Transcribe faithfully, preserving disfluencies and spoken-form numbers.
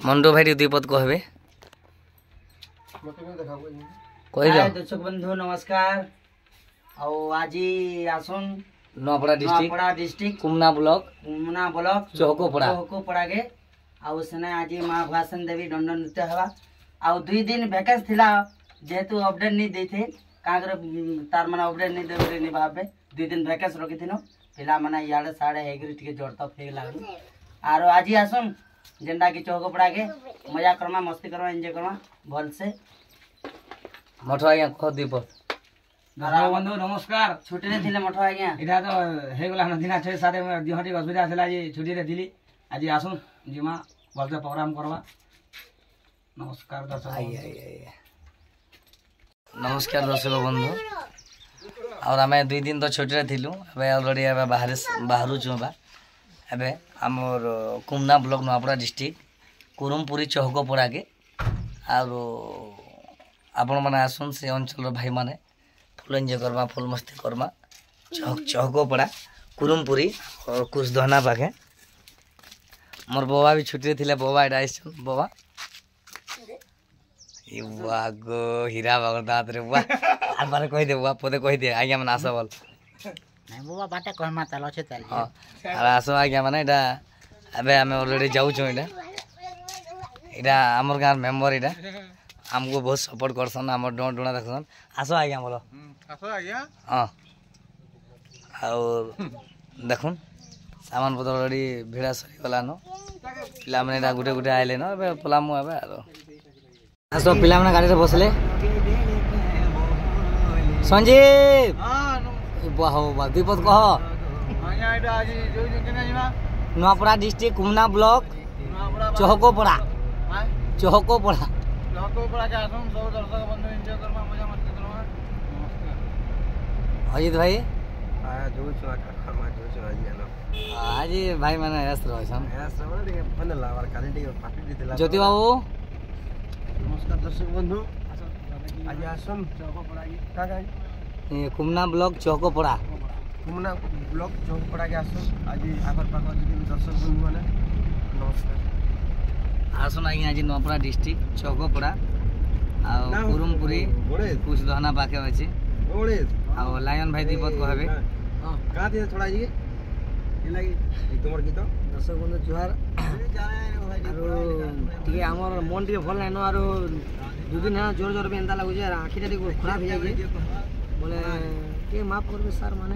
ମଣ୍ଡୁ ଭାଇ ଟିକେ ଦୁଇ ପଦ କହିବେ କହିଦିଅ ଦର୍ଶକ ବନ୍ଧୁ ନମସ୍କାର ଆଉ ଆଜି ଆସୁନ୍ Nuapada district Nuapada district Komna block Komna block Chahakopada ଚହକୋପଡ଼ାକେ ଆଉ ସେନେ ଆଜି ମା ଭୁଆସନ ଦେବୀ ଦଣ୍ଡ ନୃତ୍ୟ ହେବା ଆଉ ଦୁଇ ଦିନ ଭ୍ୟାକେନ୍ସ ଥିଲା ଯେହେତୁ ଅପଡେଟ୍ ନେଇ ଦେଇਥੇ କାଁ ତାର ମାନେ ଅପଡେଟ୍ ନେଇ ଦେବେ ନି ଭାବେ ଦୁଇ ଦିନ ଭ୍ୟାକେନ୍ସ ରଖିଥିନୁ ପିଲାମାନେ ଇଆଡ଼େ ସିଆଡ଼େ ହେଇକରି ଟିକେ ଜଡ଼ତପ ହେଇଗଲାଣି ଆରୁ ଆଜି ଆସୁନ୍ ଯେନ୍ଟା କି ଚହକୋପଡ଼ାକେ ମଜା କର୍ମା ମସ୍ତି କର୍ମା ଏନ୍ଜୟ କର୍ମା ଭଲସେ ମଠ ଆଜ୍ଞା କହ ଦୁଇ ପଦ ଦର୍ଶକ ବନ୍ଧୁ ନମସ୍କାର ଛୁଟିରେ ଥିଲେ ମଠ ଆଜ୍ଞା ଏଇଟା ତ ହେଇଗଲା ଦିନ ଛଅ ସାତ ଦେହ ଟିକେ ଅସୁବିଧା ଥିଲା ଆଜି ଛୁଟିରେ ଥିଲି ଆଜି ଆସୁନ୍ ଯିମା ଭଲସେ ପ୍ରୋଗ୍ରାମ କରବା ନମସ୍କାର ଦର୍ଶକ ଆଜ୍ଞା ଆଜ୍ଞା ଆଜ୍ଞା ନମସ୍କାର ଦର୍ଶକ ବନ୍ଧୁ ଆଉ ଆମେ ଦୁଇ ଦିନ ତ ଛୁଟିରେ ଥିଲୁ ଏବେ ଅଲରେଡ଼ି ଏବେ ବାହାରେ ବାହାରୁଛୁ ବା ଏବେ ଆମର କୁମନା ବ୍ଲକ ନୂଆପଡ଼ା ଡିଷ୍ଟ୍ରିକ୍ଟ କୁରୁମପୁରୀ ଚହକପଡ଼ାକେ ଆଉ ଆପଣମାନେ ଆସୁନ୍ ସେ ଅଞ୍ଚଳର ଭାଇମାନେ ଫୁଲ୍ ଏନ୍ଜୟ କର୍ମା ଫୁଲ୍ ମସ୍ତି କର୍ମା ଚହକପଡ଼ା କୁରୁମପୁରୀ କୁଶଧନା ପାଖେ ମୋର୍ ବବା ବି ଛୁଟିରେ ଥିଲେ ବବା ଏଇଟା ଆସିଛନ୍ ବବା ଇ ବୁଆ ଗୋ ହୀରା ବାଗ ଦାଁତରେ ବୁଆ ଆର ବାରେ କହିଦେ ବୁଆ ପଦେ କହିଦେ ଆଜ୍ଞା ମାନେ ଆସ ବଲ ନାଇଁ ବୁବା ବାଟେ କହମା ତାଲ ଅଛେ ତାଲ ହଁ ଆର ଆସ ଆଜ୍ଞା ମାନେ ଏଇଟା ଏବେ ଆମେ ଅଲରେଡ଼ି ଯାଉଛୁ ଏଇଟା ଏଇଟା ଆମର ଗାଁର ମେମ୍ବର ଏଇଟା ଆମକୁ ବହୁତ ସପୋର୍ଟ କରସନ୍ ଆମର ଡଣା ଡୁଣା ଦେଖସନ୍ ଆସ ଆଜ୍ଞା ବଲ ଆସ ଆଜ୍ଞା ହଁ ଆଉ ଦେଖୁନ୍ ସାମାନ ପତ୍ର ଅଲରେଡ଼ି ଭିଡ଼ା ସରିଗଲାନ ପିଲାମାନେ ଏଇଟା ଗୋଟେ ଗୋଟେ ଆଇଲେନ ଏବେ ପଲାମୁ ଏବେ ଆରୁ ଆସ ପିଲାମାନେ ଗାଡ଼ିରେ ବସିଲେ ସଞ୍ଜୀବ ବୁଆ ହଉ ବା ଦୁଇ ପଦ କହ ଆଜ୍ଞା ଏଇଟା ଆଜି ଯୋଉ କେନେ ଯିମା ନୂଆପଡ଼ା ଡିଷ୍ଟ୍ରିକ୍ଟ କୁମନା ବ୍ଲକ ଚହକୋପଡ଼ା ଚହକୋପଡ଼ା ଚହକୋପଡ଼ାକେ ଆସୁନ୍ ସବୁ ଦର୍ଶକ ବନ୍ଧୁ ଏନ୍ଜୟ କର୍ମା ମଜା ମସ୍ତି କର୍ମା ନମସ୍କାର ଅଜିତ ଭାଇ ଯୋଉଛୁ କର୍ମା ଯୋଉଛୁ ଆଜି ଆନ ଆଜି ଭାଇ ମାନେ ଏସ୍ ରହିଛନ୍ ଟିକେ ଭଲ ହେଲା କାଲି ଟିକେ ପାଟି ଦେଇଥିଲା ଜ୍ୟୋତି ବାବୁ ନମସ୍କାର ଦର୍ଶକ ବନ୍ଧୁ ଆଜି ଆସୁନ୍ କାଁ କାଁ କୁମନା ବ୍ଲକ ଚହକୋପଡ଼ା କୁମନା ବ୍ଲକ ଚୌକପଡ଼ାକେ ଆସୁନ୍ ଆଜି ଆଖର ପାଖ ଯଦି ଦର୍ଶକ ବନ୍ଧୁ ମାନେ ନମସ୍କାର ଆସୁନ୍ ଆଜ୍ଞା ଆଜି ନୂଆପଡ଼ା ଡିଷ୍ଟ୍ରିକ୍ଟ ଚହକୋପଡ଼ା ଆଉ କୁରୁମପୁରୀ କୁଶଧନା ପାଖେ ଅଛି ଆଉ ଲାୟନ ଭାଇ ଦୁଇ ପଦ କହିବେ କାଁ ଦିଏ ଛଡ଼ା जी ତୁମର ଗୀତ ଦର୍ଶକ ବନ୍ଧୁ ଜୁହାର ଆରୁ ଟିକେ ଆମର ମନ ଟିକେ ଭଲ ନାଇଁନ ଆରୁ ଦୁଇ ଦିନ ହେଲା ଜୋର ଜୋର ବି ଏନ୍ତା ଲାଗୁଛେ ଆର୍ ଆଖିଟା ଟିକେ ଖରାପ ହେଇଯାଇଛି ବୋଲେ ଟିକେ ମାଫ କରିବେ ସାର୍ ମାନେ